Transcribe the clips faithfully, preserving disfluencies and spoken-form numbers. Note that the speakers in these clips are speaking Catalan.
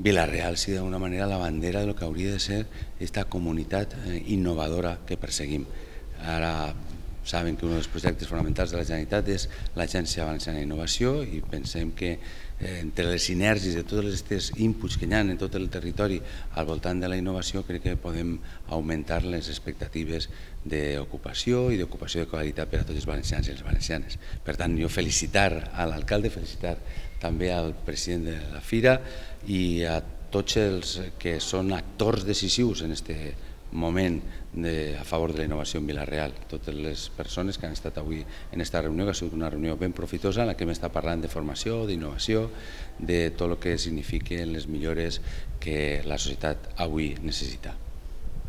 Vila-real sigui d'alguna manera la bandera de lo que hauria de ser aquesta comunitat innovadora que perseguim. Ara saben que un dels projectes fonamentals de la Generalitat és l'Agència Valenciana d'Innovació i pensem que entre les sinergies de tots aquests inputs que hi ha en tot el territori al voltant de la innovació crec que podem augmentar les expectatives d'ocupació i d'ocupació de qualitat per a tots els valencians i les valencianes. Per tant, jo felicitar a l'alcalde, felicitar també al president de la Fira i a tots els que són actors decisius en aquest moment a favor de la innovació en Vila-real. Totes les persones que han estat avui en aquesta reunió, que ha sigut una reunió ben profitosa en la que hem estat parlant de formació, d'innovació, de tot el que signifiquen les millores que la societat avui necessita.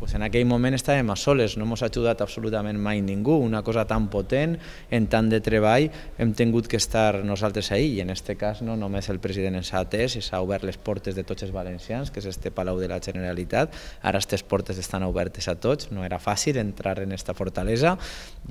Pues en aquell moment estàvem a soles, no ens ha ajudat absolutament mai ningú, una cosa tan potent, en tant de treball, hem tingut que estar nosaltres ahí, i en aquest cas no només el president ens ha atès, s'ha obert les portes de tots els valencians, que és este Palau de la Generalitat, ara aquestes portes estan obertes a tots, no era fàcil entrar en aquesta fortalesa,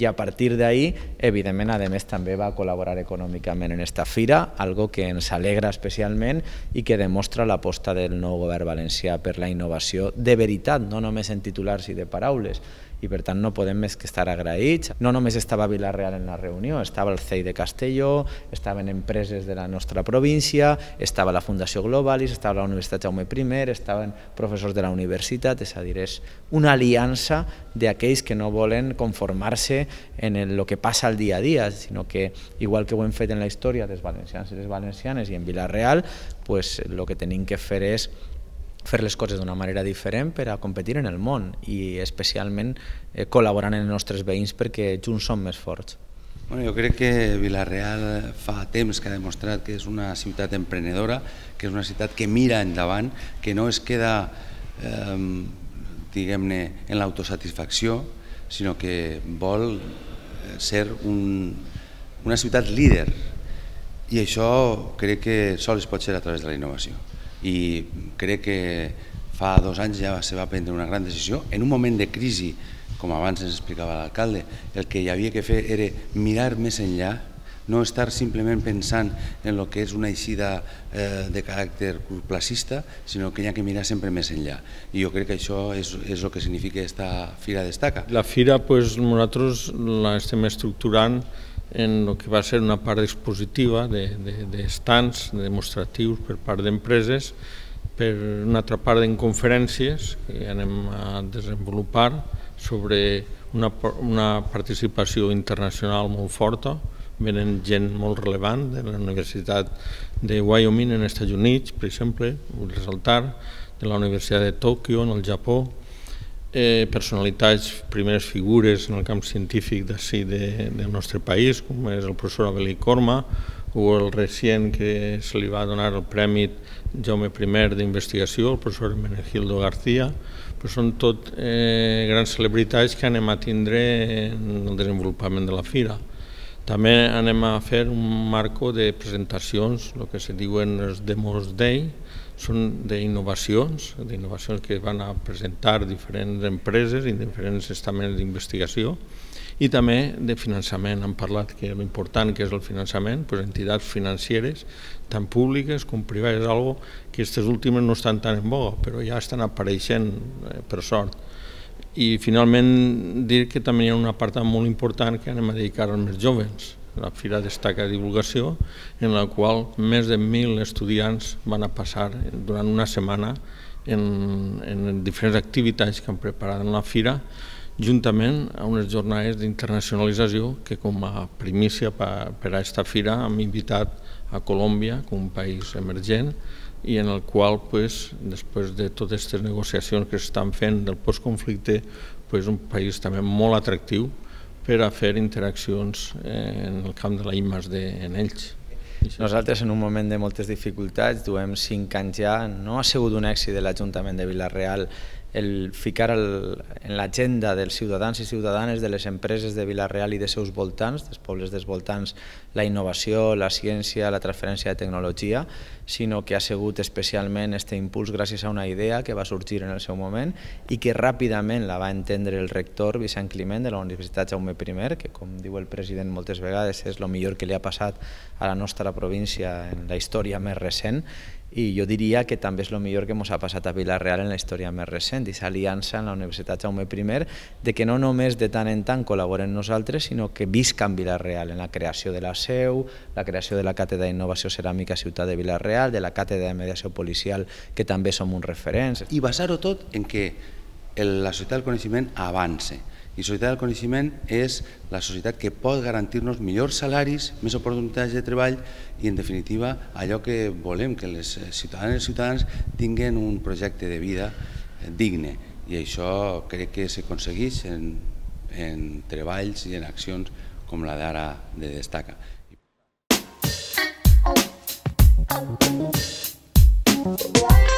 i a partir d'ahí, evidentment, a més també va col·laborar econòmicament en aquesta fira, algo que ens alegra especialment i que demostra l'aposta del nou govern valencià per la innovació de veritat, no només en titulars i de paraules, i per tant no podem més que estar agraïts. No només estava Vila-real en la reunió, estava el C E I de Castelló, estaven empreses de la nostra província, estava la Fundació Globalis, estava la Universitat Jaume I, estaven professors de la universitat, és a dir, és una aliança d'aquells que no volen conformar-se en el que passa al dia a dia, sinó que, igual que ho hem fet en la història dels valencians i les valencianes i en Vila-real, el que tenim que fer és fer les coses d'una manera diferent per a competir en el món i especialment col·laborant amb els nostres veïns perquè junts som més forts. Jo crec que Vila-real fa temps que ha demostrat que és una ciutat emprenedora, que és una ciutat que mira endavant, que no es queda diguem-ne en l'autosatisfacció, sinó que vol ser una ciutat líder, i això crec que sols pot ser a través de la innovació. I crec que fa dos anys ja se va prendre una gran decisió. En un moment de crisi, com abans ens explicava l'alcalde, el que hi havia que fer era mirar més enllà, no estar simplement pensant en el que és una eixida de caràcter curtplacista, sinó que hi ha que mirar sempre més enllà. I jo crec que això és el que significa aquesta Fira Destaca. La Fira nosaltres l'estem estructurant en el que va ser una part expositiva d'estants demostratius per part d'empreses, per una altra part en conferències que anem a desenvolupar sobre una participació internacional molt forta. Venen gent molt relevant de la Universitat de Wyoming en Estats Units, per exemple, vull ressaltar, de la Universitat de Tòquio, en el Japó, personalitats, primeres figures en el camp científic d'ací del nostre país, com és el professor Abelí Corma, o el recient que se li va donar el Premi Jaume I d'investigació, el professor Menegildo García, però són tot grans celebritats que anem a tindre en el desenvolupament de la fira. També anem a fer un marco de presentacions, el que se diuen els Demos Day, són d'innovacions, d'innovacions que van a presentar diferents empreses i diferents estaments d'investigació, i també de finançament. Han parlat que l'important que és el finançament, entitats financeres, tant públiques com privades, algo que aquestes últimes no estan tan en boga, però ja estan apareixent, per sort. I finalment dir que també hi ha una part molt important que anem a dedicar als més joves. La Fira Destaca Divulgació, en la qual més de mil estudiants van a passar durant una setmana en diferents activitats que han preparat en la fira, juntament a unes jornades d'internacionalització que com a primícia per a aquesta fira hem invitat a Colòmbia com un país emergent i en el qual, després de totes aquestes negociacions que s'estan fent del postconflicte, és un país també molt atractiu per a fer interaccions en el camp de la I més D en ells. Nosaltres, en un moment de moltes dificultats, duem cinc anys ja, no ha sigut un èxit de l'Ajuntament de Vila-real el ficar el, en l'agenda dels ciutadans i ciutadanes de les empreses de Vila-real i de seus voltants, dels pobles dels voltants, la innovació, la ciència, la transferència de tecnologia, sinó que ha sigut especialment aquest impuls gràcies a una idea que va sorgir en el seu moment i que ràpidament la va entendre el rector Vicent Climent de la Universitat Jaume primer, que com diu el president moltes vegades és el millor que li ha passat a la nostra província en la història més recent, i jo diria que també és el millor que ens ha passat a Vila-real en la història més recent, aquesta aliança en la Universitat Jaume primer, de que no només de tant en tant col·laborem nosaltres, sinó que viscan Vila-real en la creació de la seu, la creació de la Càtedra d'Innovació Ceràmica Ciutat de Vila-real, de la Càtedra de Mediació Policial, que també som uns referents. I basar-ho tot en que la societat del coneixement avance. I la societat del coneixement és la societat que pot garantir-nos millors salaris, més oportunitats de treball i, en definitiva, allò que volem, que les ciutadanes i ciutadans tinguin un projecte de vida digne. I això crec que s'aconsegueix en, en treballs i en accions com la d'ara de Destaca. Wow.